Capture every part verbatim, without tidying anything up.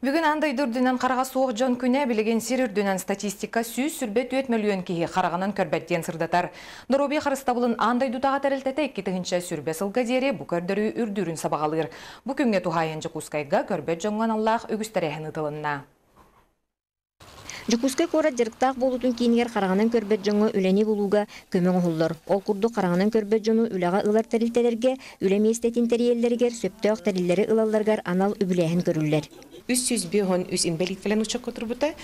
Бүгін андай дүрдінен қараға суық жон күне білеген сир үрдінен статистика сүйіз сүрбет өт миллион кейі қарағанын көрбәттен сырдатар. Дороби қарыстабылын андай дұтаға тәрілтеті еккетігінші сүрбе сылға дері бұ көрдірі үрдірін сабағалыр. Бұ күнге тухайынчы кускайға көрбәт жоңған Аллах өгістәрәхін ұтылынна. Жукускай кора жарықтақ болутун кейінгер қарағанын көрбет жоңы үләне болуға көмің ұғылыр. Ол күрді қарағанын көрбет жоңы үлаға ылар тәрілтелерге, үләме естетін тәрелерігер, сөптөк тәрелері ылаларғар анал үбіләхін көрілер. Үс жүз бейон үс инвалид филен учак отырбыта.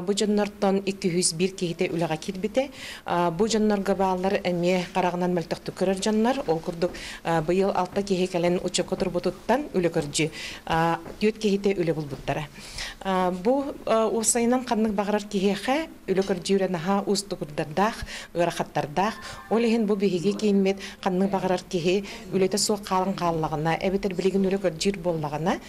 Бу жоннортон эки жүз бир кейте үлага кирбите. Бу жоннорга баалар эме карагынан мөлтөктү көрөр жоннор. Ол курдук быйыл алты кейе келен учак отырбутуттан үлө көржү. Төт кейте үлө булбуттара. Бу усайынан каннык багарар кейхе үлө көржүрө наха устугурдардах, ырахаттардах. Ол ehen бу биһиге кеймет каннык багарар кейе үлөтө суу калын каллагына, эбетер билигин үлө көржүр боллагына,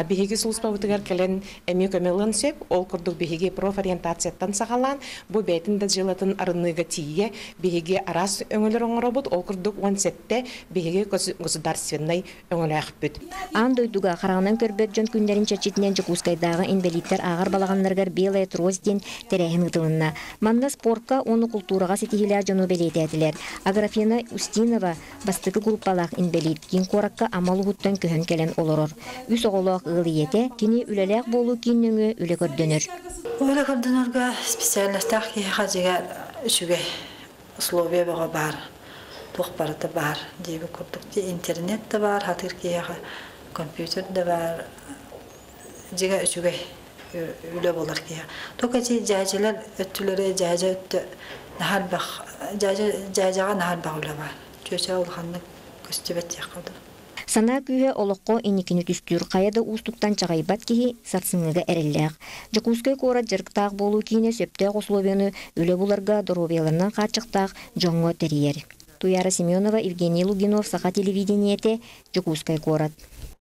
биһиге сулуспабытыгар келен эми көмөлөн сөп, ол курдук биһиге профориентацияттан сагалан, бу бетинде жылатын арыныга тие, биһиге арас өңөлөр оңоробут, ол курдук он сетте биһиге государственный өңөлөкпүт. Андойдуга карагынан көрбөт жон күндөрүн чечитинен Жукускайдагы инвалидтер агар балаганнаргар белая трозден терехин ытылынна. Манна спортка, оны культурага сетихилер жону белететилер. Аграфена Устинова бастыкы группалак инвалид кин коракка амалугуттан көһөн келен олорор. Үс оголок ылыете кини үлелек болу киннөңө үле көрдөнөр. Үле көрдөнөргө специалисттар ки хажыга үчүгө условия бар. Тухпарыты бар, дейби көрдүк. Интернет да бар, хатыр ки компьютер да бар. Жига үчүгө үле болар ки. Тока жи жажылар өттүлөрө жажа өттү нахар бак, жажа жажага нахар бак үле бар. Чөчө улганны көстөбөт якылды. Сана күйе олоққо иникini түстүр қаяда устуктан чағайбат кихи сарсыңыға әрелләқ. Жукускай кора жарықтақ болу кейіне сөптәқ условияны үлі бұларға доробияларынан қачықтақ жоңғы терьер. Туяра Семенова, Евгений Лугинов, Саха телевидениете, Жукускай корат.